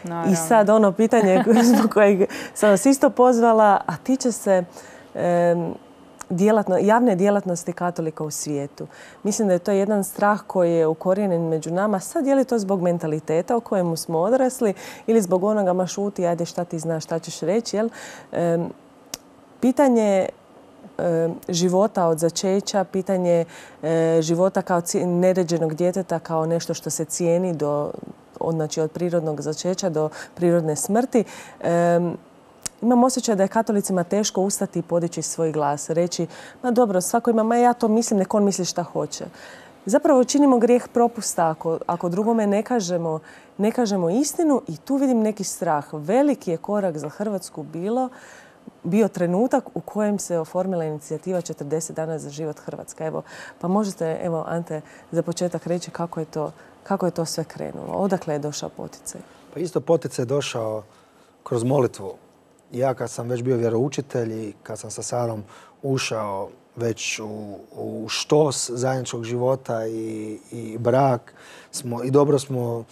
Naravno. I sad ono pitanje zbog kojeg sam vas isto pozvala, a tiče se... Um, Djelatno, javne djelatnosti katolika u svijetu. Mislim da je to jedan strah koji je ukorijenjen među nama. Sad je li to zbog mentaliteta o kojemu smo odrasli ili zbog onoga ma šuti, ajde šta ti znaš, šta ćeš reći. Jel? E, pitanje e, života od začeća, pitanje e, života kao neređenog djeteta kao nešto što se cijeni do, od, znači od prirodnog začeća do prirodne smrti. E, Imam osjećaj da je katolicima teško ustati i podići svoj glas. Reći, ma dobro, svako ima, ma ja to mislim, nek on misli šta hoće. Zapravo činimo grijeh propusta ako, ako drugome ne kažemo, ne kažemo istinu i tu vidim neki strah. Veliki je korak za Hrvatsku bilo, bio trenutak u kojem se oformila inicijativa četrdeset dana za život Hrvatska. Evo, pa možete, evo, Ante, za početak reći kako je to, kako je to sve krenulo. Odakle je došao poticaj? Pa isto poticaj je došao kroz molitvu. Ja kad sam već bio vjeroučitelj i kad sam sa Sarom ušao već u, u štos zajedničkog života i, i brak smo, i dobro smo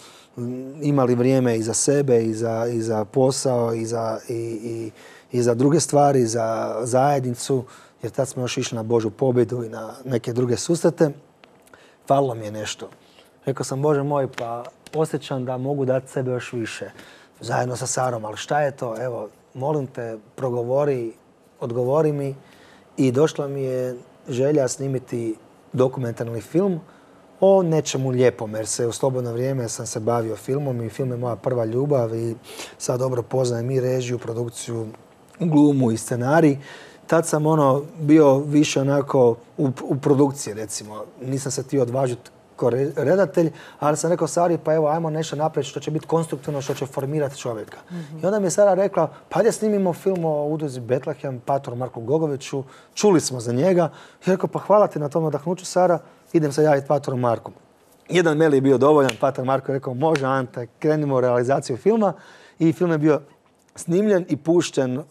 imali vrijeme i za sebe i za, i za posao i za, i, i, i za druge stvari, za zajednicu, jer tad smo još išli na Božju pobjedu i na neke druge susrete. Falilo mi je nešto. Rekao sam, Bože moj, pa osjećam da mogu dati sebe još više zajedno sa Sarom, ali šta je to? Evo, molim te, progovori, odgovori mi. I došla mi je želja snimiti dokumentarni film o nečemu lijepom, jer se u slobodno vrijeme sam se bavio filmom i film je moja prva ljubav i sad dobro poznajem i režiju, produkciju, glumu i scenarij. Tad sam ono bio više onako u, u produkciji, recimo. Nisam se htio odvažiti kao redatelj, ali sam rekao Sari, pa evo, ajmo nešto napraviti što će biti konstruktivno, što će formirati čovjeka. Mm-hmm. I onda mi je Sara rekla, pa ajde snimimo film o udruzi Betlehem, patoru Marku Gogoviću, čuli smo za njega. I rekao, pa hvala ti na tom nadahnuću, Sara, idem se javiti patoru Marku. Jedan mail je bio dovoljan, pator Marko je rekao, može Ante, krenimo u realizaciju filma. I film je bio snimljen i pušten uh,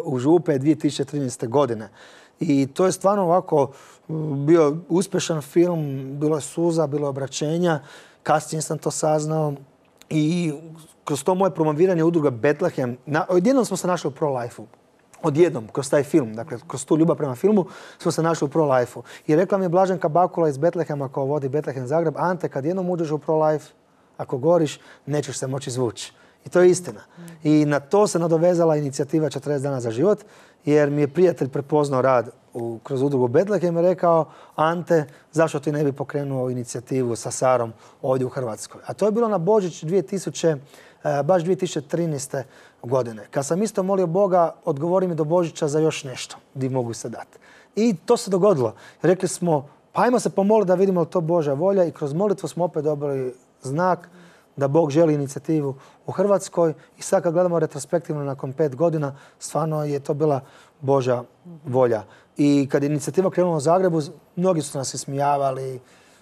u Župe dvije tisuće trinaeste. godine. I to je stvarno ovako bio uspješan film, bilo je suza, bilo je obraćenja, kasnije sam to saznao i kroz to moje promoviranje udruga Betlehem, na, odjednom smo se našli u pro-life-u. Odjednom, kroz taj film, dakle, kroz tu ljubav prema filmu, smo se našli u pro-life-u. I rekla mi je Blaženka Bakula iz Betlehema, koja vodi Betlehem Zagreb, Ante, kad jednom uđeš u pro-life, ako goriš, nećeš se moći izvući. I to je istina. I na to se nadovezala inicijativa četrdeset dana za život, jer mi je prijatelj prepoznao rad u, kroz udrugu Betlehem i rekao Ante, zašto ti ne bi pokrenuo inicijativu sa Sarom ovdje u Hrvatskoj. A to je bilo na Božić dvije tisuće, baš dvije tisuće trinaeste. godine. Kad sam isto molio Boga, odgovori mi do Božića za još nešto gdje mogu se dati. I to se dogodilo. Rekli smo, pa ajmo se pomoliti da vidimo li to Božja volja i kroz molitvu smo opet dobili znak da Bog želi inicijativu u Hrvatskoj i sad kad gledamo retrospektivno nakon pet godina, stvarno je to bila Božja volja. I kad je inicijativa krenula u Zagrebu, mnogi su nas ismijavali,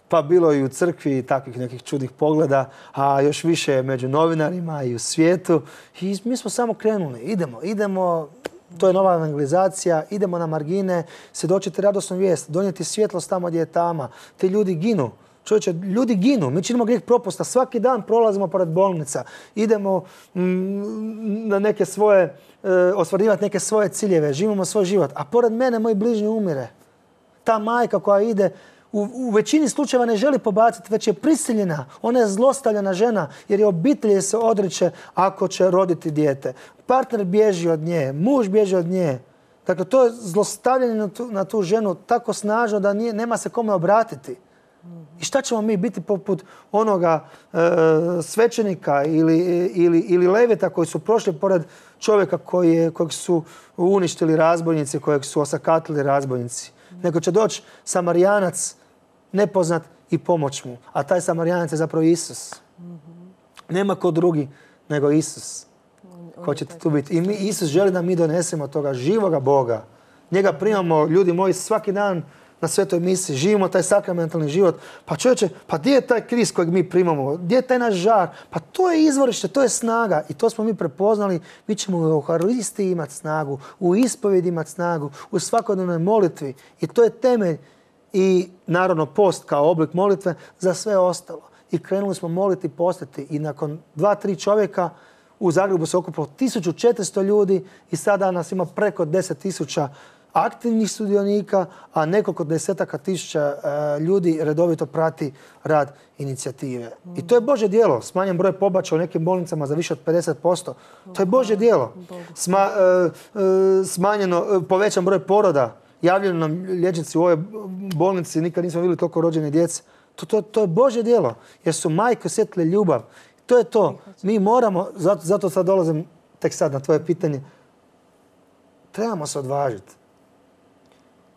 pa bilo i u crkvi takvih nekih čudnih pogleda, a još više među novinarima i u svijetu. I mi smo samo krenuli. Idemo, idemo, to je nova evangelizacija, idemo na margine, svjedočiti radosnu vijest, donijeti svjetlost tamo gdje je tama. Ti ljudi ginu. Čovječe, ljudi ginu. Mi činimo grijeh propusta. Svaki dan prolazimo pored bolnica. Idemo mm, na neke svoje, e, ostvarivati neke svoje ciljeve. Živimo svoj život. A pored mene moj bližnji umire. Ta majka koja ide U, u većini slučajeva ne želi pobaciti, već je prisiljena. Ona je zlostavljena žena jer je obitelj se odriče ako će roditi dijete. Partner bježi od nje, muž bježi od nje. Dakle, to je zlostavljanje na tu, na tu ženu tako snažno da nije, nema se kome obratiti. I šta ćemo mi biti poput onoga e, svećenika ili, ili, ili levita koji su prošli pored čovjeka koji je, kojeg su uništili razbojnici, kojeg su osakatili razbojnici. Nego će doći Samarijanac nepoznat i pomoć mu. A taj Samarijanac je zapravo Isus. Nema ko drugi nego Isus. Ko će tu biti. I mi, Isus želi da mi donesemo toga živoga Boga. Njega primamo, ljudi moji, svaki dan na svetoj misiji. Živimo taj sakramentalni život. Pa čovječe, pa gdje je taj Krist kojeg mi primamo? Gdje je taj naš žar? Pa to je izvorište, to je snaga. I to smo mi prepoznali. Mi ćemo u Euharistiji imati snagu, u ispovjedi imati snagu, u svakodnevnoj molitvi. I to je temelj i naravno post kao oblik molitve za sve ostalo. I krenuli smo moliti i postiti. I nakon dva, tri čovjeka u Zagrebu se okupilo tisuću četiristo ljudi i sada nas ima preko deset tisuća aktivnih sudionika, a nekoliko desetaka tisuća uh, ljudi redovito prati rad inicijative. Mm. I to je Božje djelo. Smanjen broj pobačaja u nekim bolnicama za više od pedeset posto. To je Božje djelo. Sma, uh, uh, smanjeno, uh, povećan broj poroda. Javljaju nam liječnici u ovoj bolnici, nikad nismo vidjeli toliko rođene djece. To, to, to je Božje djelo. Jer su majke osjetile ljubav. To je to. Mi moramo, zato, zato sad dolazim tek sad na tvoje pitanje, trebamo se odvažiti.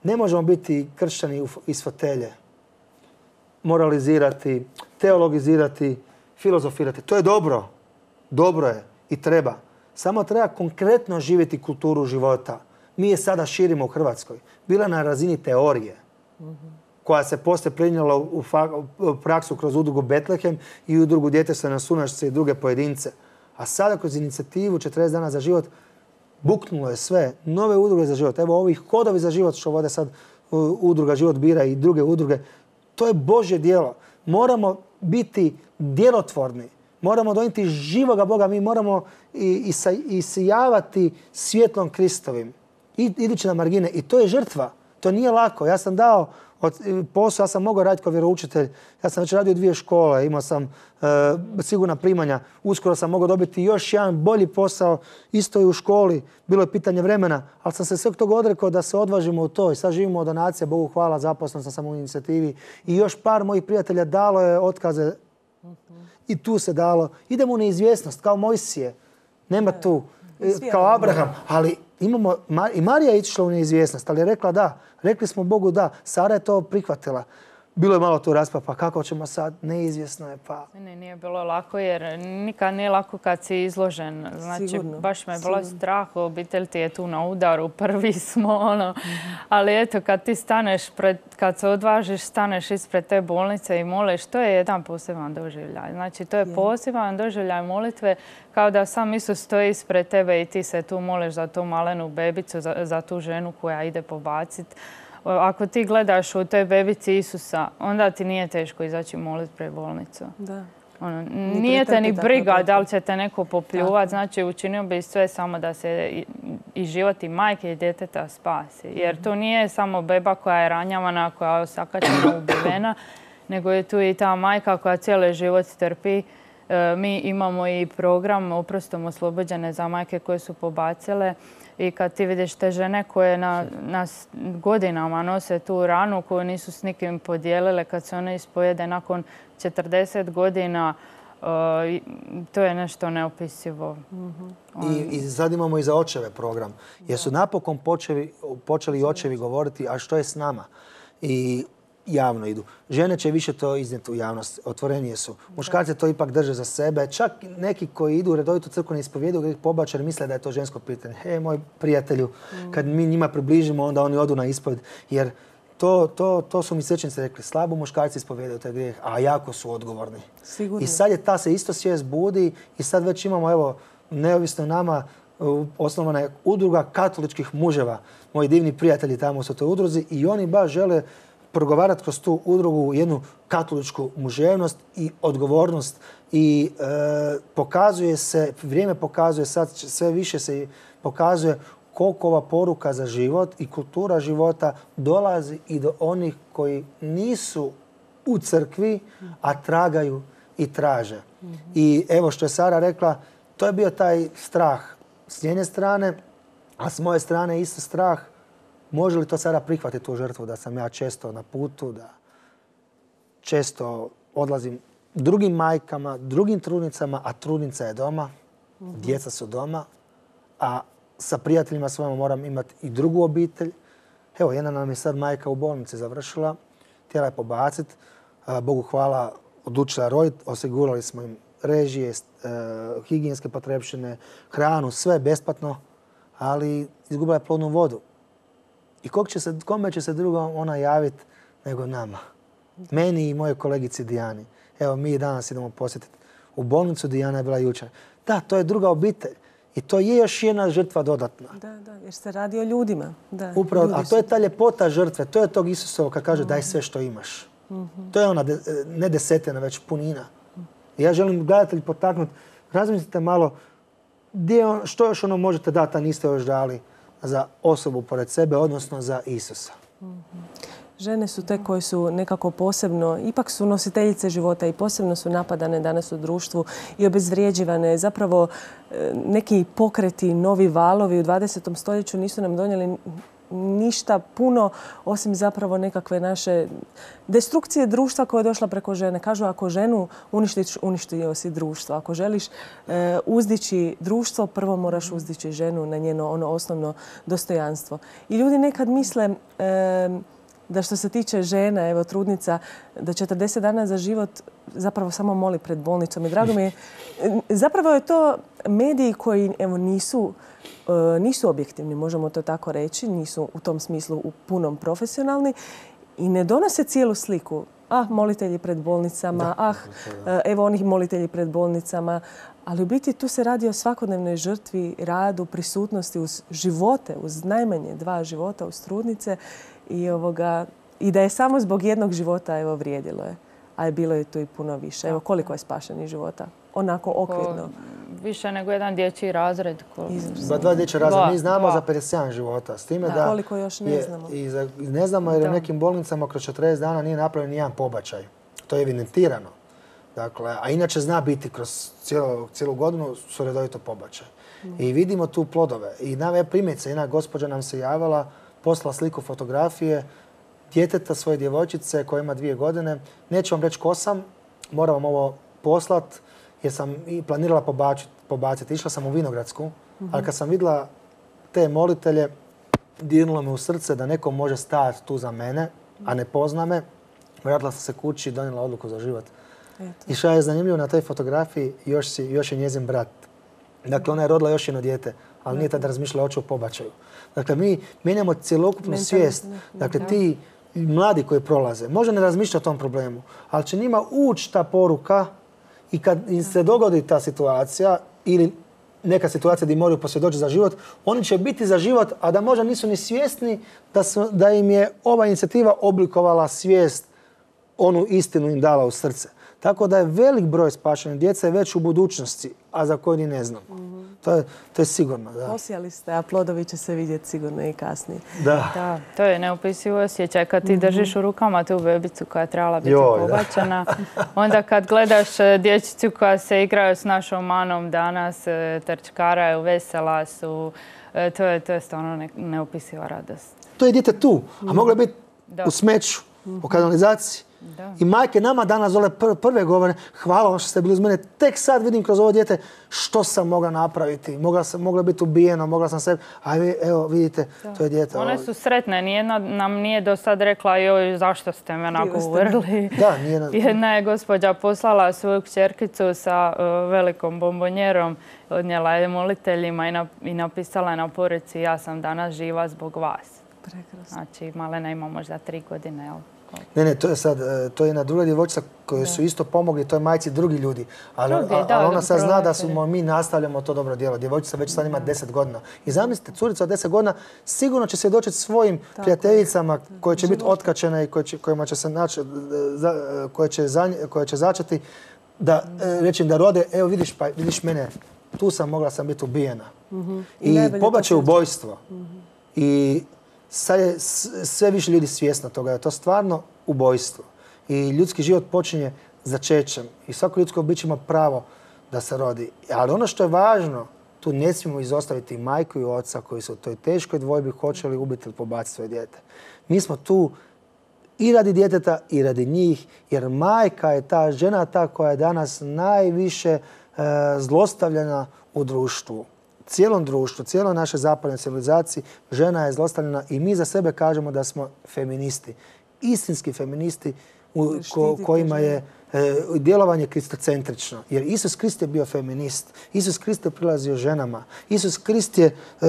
Ne možemo biti kršćani iz fotelje, moralizirati, teologizirati, filozofirati. To je dobro. Dobro je i treba. Samo treba konkretno živjeti kulturu života. Mi je sada širimo u Hrvatskoj. Bila na razini teorije, koja se poslije prenijela u, u praksu kroz udrugu Betlehem i udrugu Djetestva na Sunašce i druge pojedince. A sada kroz inicijativu četrdeset dana za život buknulo je sve. Nove udruge za život. Evo ovih kodovi za život što vode sad udruga Život bira i druge udruge. To je Božje djelo. Moramo biti djelotvorni. Moramo donijeti živoga Boga. Mi moramo isijavati svjetlom Kristovim. I, idući na margine. I to je žrtva. To nije lako. Ja sam dao od posao, ja sam mogao raditi kao vjeroučitelj. Ja sam već radio dvije škole, imao sam e, sigurna primanja. Uskoro sam mogao dobiti još jedan bolji posao, isto i u školi. Bilo je pitanje vremena, ali sam se sveg toga odrekao da se odvažimo u to. I sad živimo od donacija, Bogu hvala, zaposlen sam samo u inicijativi. I još par mojih prijatelja dalo je otkaze. I tu se dalo. Idemo u neizvjesnost, kao Mojsije. Nema tu, kao Abraham. Ali imamo, i Marija je išla u neizvjesnost, ali je rekla da. Rekli smo Bogu da. Sara je to prihvatila. Bilo je malo tu rasprava, pa kako ćemo sad? Neizvjesno je, pa... Ne, nije bilo lako jer nikad nije lako kad si izložen. Znači, sigurno, baš me je bilo strah, obitelj ti je tu na udaru, prvi smo, ono. Mm-hmm. Ali eto, kad ti staneš, pred, kad se odvažiš, staneš ispred te bolnice i moliš, to je jedan poseban doživljaj. Znači, to je yeah. poseban doživljaj molitve, kao da sam Isus stoji ispred tebe i ti se tu moliš za tu malenu bebicu, za, za tu ženu koja ide pobaciti. Ako ti gledaš u toj bebici Isusa, onda ti nije teško izaći moliti pred bolnicu. Da. Ono, nije te ni briga da li će te neko popljuvati. Znači, učinio bi sve samo da se i, i život i majke i djeteta spasi. Jer to nije samo beba koja je ranjavana, koja je osakaćena, ubivena, nego je tu i ta majka koja cijeli život trpi Mi imamo i program Oprostom oslobođene za majke koje su pobacile. I kad ti vidiš te žene koje na, nas godinama nose tu ranu koju nisu s nikim podijelile, kad se one ispojede nakon četrdeset godina, uh, to je nešto neopisivo. Mm-hmm. I, I sad imamo i za očeve program. Jer su napokon počeli, počeli i očevi govoriti, a što je s nama? I javno idu. Žene će više to iznijeti u javnost, otvorenije su. Muškarci to ipak drže za sebe. Čak neki koji idu u redovitu crkvenu ispovjedu, gdje ih pobače, misle da je to žensko pitanje. Hej, moj prijatelju, mm. kad mi njima približimo, onda oni odu na ispovjed. Jer to, to, to su mi svećenici rekli. Slabo muškarci ispovjedaju taj grijeh, a jako su odgovorni. Sigurno. I sad je ta se isto svijest budi i sad već imamo, evo, neovisno nama, osnovana je udruga katoličkih muževa. Moji divni prijatelji tamo su u toj udruzi i oni baš žele progovarati kroz tu udrugu jednu katoličku muževnost i odgovornost i e, pokazuje se, vrijeme pokazuje, sad sve više se pokazuje koliko ova poruka za život i kultura života dolazi i do onih koji nisu u crkvi, a tragaju i traže. Mm-hmm. I evo što je Sara rekla, to je bio taj strah s njene strane, a s moje strane isto strah. Može li to sada prihvatiti tu žrtvu da sam ja često na putu, da često odlazim drugim majkama, drugim trudnicama, a trudnica je doma, mm-hmm. djeca su doma, a sa prijateljima svojima moram imati i drugu obitelj. Evo, jedna nam je sad majka u bolnici završila, htjela je pobaciti. Bogu hvala, odlučila roditi, osigurali smo im režije, higijenske potrepštine, hranu, sve besplatno, ali izgubila je plodnu vodu. I kog će se, kome će se drugo ona javiti nego nama? Meni i moje kolegici Dijani. Evo, mi danas idemo posjetiti u bolnicu, Dijana je bila jučer. Da, to je druga obitelj. I to je još jedna žrtva dodatna. Da, da, jer se radi o ljudima. Da, upravo, a to je ta ljepota žrtve. To je tog Isusovo kad kaže daj sve što imaš. Mm-hmm. To je ona, de, ne desetina, već punina. I ja želim gledatelji potaknuti. Razmislite malo gdje on, što još ono možete dati, a niste još dali za osobu pored sebe, odnosno za Isusa. Mm-hmm. Žene su te koje su nekako posebno, ipak su nositeljice života i posebno su napadane danas u društvu i obezvrijeđivane. Zapravo neki pokreti, novi valovi u dvadesetom stoljeću nisu nam donijeli ništa puno osim zapravo nekakve naše destrukcije društva koja je došla preko žene. Kažu ako ženu uništiš, uništio si društvo. Ako želiš e, uzdići društvo, prvo moraš uzdići ženu na njeno ono osnovno dostojanstvo. I ljudi nekad misle e, da što se tiče žena, evo trudnica, da četrdeset dana za život zapravo samo moli pred bolnicom. I drago mi je, zapravo je to mediji koji evo, nisu, nisu objektivni, možemo to tako reći, nisu u tom smislu u punom profesionalni i ne donose cijelu sliku. Ah, molitelji pred bolnicama, da, ah, da. Evo onih molitelji pred bolnicama. Ali u biti tu se radi o svakodnevnoj žrtvi, radu, prisutnosti uz živote, uz najmanje dva života, uz trudnice. I, ovoga, I da je samo zbog jednog života evo, vrijedilo je. A je bilo je tu i puno više. Evo koliko je spašenih života? Onako okvirno. Ko, više nego jedan dječji razred. Ko... Ba, dva dječja razreda. Mi znamo dva. za pedeset sedam života. S time da, da koliko još ne znamo. Je, i za, ne znamo jer da. u nekim bolnicama kroz četrdeset dana nije napravljen nijedan pobačaj. To je evidentirano. Dakle, a inače zna biti kroz cijelu, cijelu godinu su redovito pobačaj. Mm. I vidimo tu plodove. I na primjerice, jedna gospođa nam se javila, poslala sliku fotografije djeteta svoje djevojčice koja ima dvije godine. Neću vam reći ko sam, moram vam ovo poslat jer sam i planirala pobaciti. pobaciti. Išla sam u Vinogradsku, mm-hmm. ali kad sam vidjela te molitelje, dirnulo me u srce da neko može stajati tu za mene, a ne pozna me. Vratila sam se kući i donijela odluku za život. Eto. I što je zanimljivo na toj fotografiji, još, si, još je njezin brat. Dakle, ona je rodila još jedno dijete, ali nije tada razmišljala oči o pobačaju. Dakle, mi mijenjamo cjelokupnu Mentalno. svijest. Dakle, ti mladi koji prolaze, možda ne razmišlja o tom problemu, ali će njima ući ta poruka i kad im se dogodi ta situacija ili neka situacija gdje moraju posvjedočiti za život, oni će biti za život, a da možda nisu ni svjesni da, su, da im je ova inicijativa oblikovala svijest onu istinu im dala u srce. Tako da je velik broj spašenih djeca je već u budućnosti, a za koju ni ne znamo. Mm-hmm. To, je, to je sigurno. Da. Posijali ste, a plodovi će se vidjeti sigurno i kasnije. Da. Da, to je neopisivo osjećaj kad ti držiš u rukama tu bebicu koja je trebala biti Joj, pobačena. Onda kad gledaš dječicu koja se igraju s našom Manom danas, trčkaraju, vesela su, to je, to je stvarno ne, neopisiva radost. To je dijete tu, a moglo je biti u smeću, u kanalizaciji. Da. I majke nama danas dole prve govore, hvala vam što ste bili uz mene. Tek sad vidim kroz ovo dijete što sam mogla napraviti. Mogla sam mogla biti ubijena, mogla sam sebi. A vi, evo vidite, da. To je dijete. One su sretne. Nijedna nam nije do sad rekla joj zašto ste me onako uvrli. Da, nijedna. Jedna je gospođa poslala svoju kćerkicu sa uh, velikom bombonjerom, odnijela je moliteljima i, na, i napisala je na poruci ja sam danas živa zbog vas. Prekrasno. Znači Malena ima možda tri godine, jel? Ne, ne, to je sad, to je jedna druga djevojčica koju su isto pomogli, to je majci drugi ljudi. Ali, drugi, a, da, ali ona sad zna da smo mi nastavljamo to dobro djelo. Djevojčica već sad ima deset godina. I zamislite, curica od deset godina sigurno će svjedočiti svojim tako prijateljicama koje će biti otkačene i koje će, kojima će se naći, koje će, za, koje će začeti da reći da rode, evo vidiš, pa, vidiš mene, tu sam mogla sam biti ubijena. Mm-hmm. I, I pobačaj ubojstvo. Mm-hmm. I sad je sve više ljudi svjesno toga, je to stvarno ubojstvo. I ljudski život počinje začećem. I svako ljudsko biće ima pravo da se rodi. Ali ono što je važno, tu ne smijemo izostaviti majku i oca koji su u toj teškoj dvojbi hoće li ubiti ili pobaciti svoje dijete. Mi smo tu i radi djeteta i radi njih, jer majka je ta žena ta koja je danas najviše e, zlostavljena u društvu. Cijelom društvu, cijeloj našoj zapadnoj civilizaciji žena je zlostavljena i mi za sebe kažemo da smo feministi. Istinski feministi u ko, kojima je e, djelovanje kristocentrično. Jer Isus Krist je bio feminist. Isus Krist je prilazio ženama. Isus Krist je e,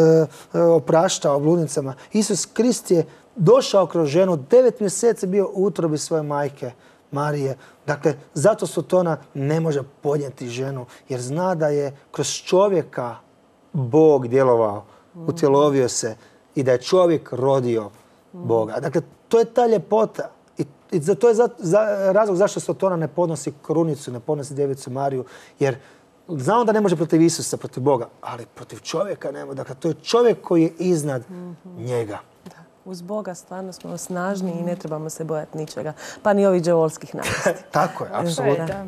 e, opraštao bludnicama. Isus Krist je došao kroz ženu. Devet mjeseci bio u utrobi svoje majke Marije. Dakle, zato Sotona ne može podnijeti ženu. Jer zna da je kroz čovjeka Bog djelovao, utjelovio se i da je čovjek rodio Boga. Dakle, to je ta ljepota. I, i za, to je za, za, razlog zašto Sotona ne podnosi krunicu, ne podnosi djevicu Mariju. Jer znamo da ne može protiv Isusa, protiv Boga, ali protiv čovjeka nema. Dakle, to je čovjek koji je iznad mm-hmm. njega. Da. Uz Boga stvarno smo snažni mm. i ne trebamo se bojati ničega. Pa ni ovih đavolskih napasti. Tako je, apsolutno.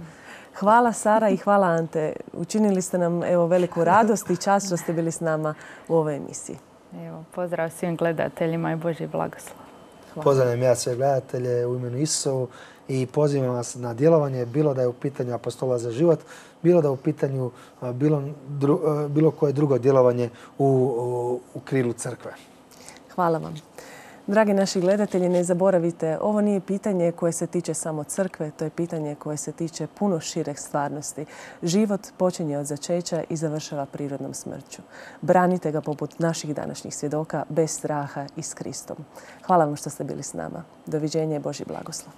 Hvala Sara i hvala Ante. Učinili ste nam evo veliku radost i čast što ste bili s nama u ovoj emisiji. Evo, pozdrav svim gledateljima i Božji blagoslov. Pozdravljam ja sve gledatelje u imenu Isusovu i pozivam vas na djelovanje, bilo da je u pitanju Apostola za život, bilo da je u pitanju bilo, dru, bilo koje drugo djelovanje u, u, u krilu crkve. Hvala vam. Dragi naši gledatelji, ne zaboravite, ovo nije pitanje koje se tiče samo crkve, to je pitanje koje se tiče puno širih stvarnosti. Život počinje od začeća i završava prirodnom smrću. Branite ga poput naših današnjih svjedoka, bez straha i s Kristom. Hvala vam što ste bili s nama. Doviđenja i Božji blagoslov.